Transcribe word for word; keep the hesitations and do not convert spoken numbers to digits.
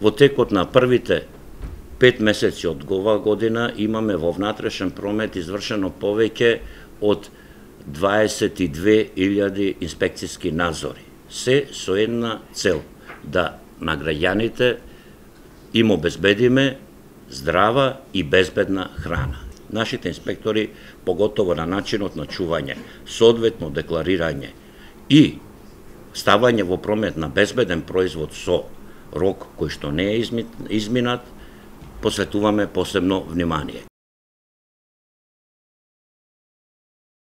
Во текот на првите пет месеци од оваа година имаме во внатрешен промет извршено повеќе од дваесет и две илјади инспекциски надзори. Се со една цел, да на граѓаните им обезбедиме здрава и безбедна храна. Нашите инспектори, поготово на начинот на чување, соодветно декларирање и ставање во промет на безбеден производ со рок кој што не е изминат, посветуваме посебно внимание.